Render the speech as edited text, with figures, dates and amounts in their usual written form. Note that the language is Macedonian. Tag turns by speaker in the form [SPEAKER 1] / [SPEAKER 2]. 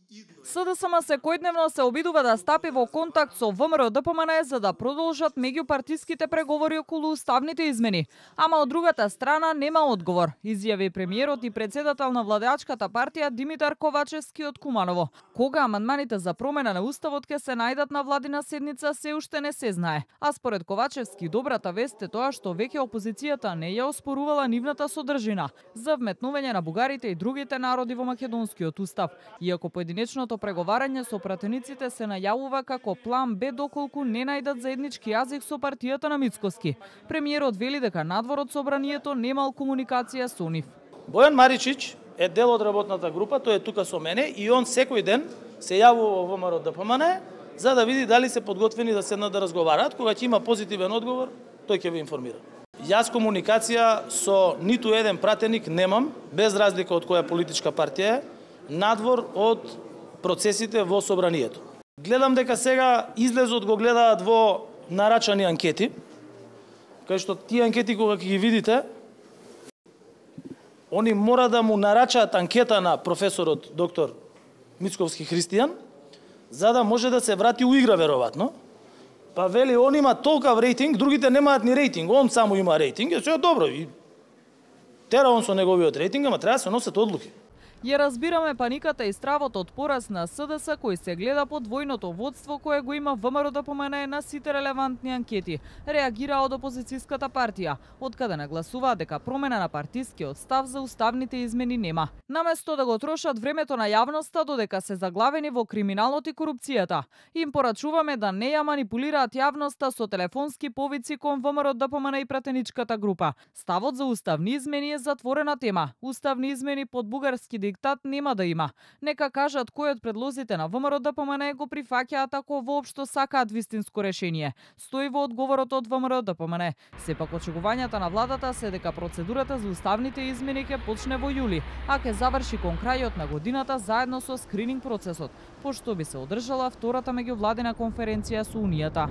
[SPEAKER 1] СДСМ секојдневно се обидува да стапи во контакт со ВМРО-ДПМН за да продолжат меѓупартиските преговори околу уставните измени. Ама од другата страна нема одговор, изјави премиерот и председател на владеачката партија Димитар Ковачевски од Куманово. Кога амандманите за промена на уставот ќе се најдат на владина седница се уште не се знае. А според Ковачевски добрата вест е тоа што веќе опозицијата не ја оспорувала нивната содржина за вметнување на бугарите и другите народи во македонскиот устав, иако поединечното преговарање со пратениците се најавува како план Б доколку не најдат заеднички јазик со партијата на Мицкоски. Премиерот вели дека надвор од собранието немал комуникација со нив.
[SPEAKER 2] Бојан Маричич е дел од работната група, тој е тука со мене и он секој ден се јавува во ВМРО-ДПМН за да види дали се подготвени да седнат да разговараат. Кога ќе има позитивен одговор, тој ќе ве информира. Јас комуникација со ниту еден пратеник немам, без разлика од која политичка партија е, надвор од процесите во собранието. Гледам дека сега излезот го гледаат во нарачани анкети, кај што тие анкети кога ќе ги видите, они мора да му нарачаат анкета на професорот доктор Мицковски Христијан, за да може да се врати у игра веројатно. Па вели, он има толкав рейтинг, другите немаат ни рейтинг, он само има рейтинг, е добро. И тера он со неговиот рейтинг, ама треба да се носат одлуки.
[SPEAKER 1] Ја разбираме паниката и стравот од пораз на СДС кој се гледа под двојното водство кое го има ВМРО-ДПМН на сите релевантни анкети, реагира од опозицијската партија, откаде нагласува дека промена на партискиот став за уставните измени нема. Наместо да го трошат времето на јавноста додека се заглавени во криминалот и корупцијата, им порачуваме да не ја манипулираат јавноста со телефонски повици кон ВМРО-ДПМН и пратеничката група. Ставот за уставни измени е затворена тема. Уставни измени под бугарски диктат нема да има. Нека кажат кој од предлозите на ВМРО-ДПМН го прифаќаат ако воопшто сакаат вистинско решение. Стои во одговорот од ВМРО-ДПМН. Сепак очекувањата на владата се дека процедурата за уставните измени ќе почне во јули, а ќе заврши кон крајот на годината заедно со скрининг процесот, пошто би се одржала втората меѓувладина конференција со Унијата.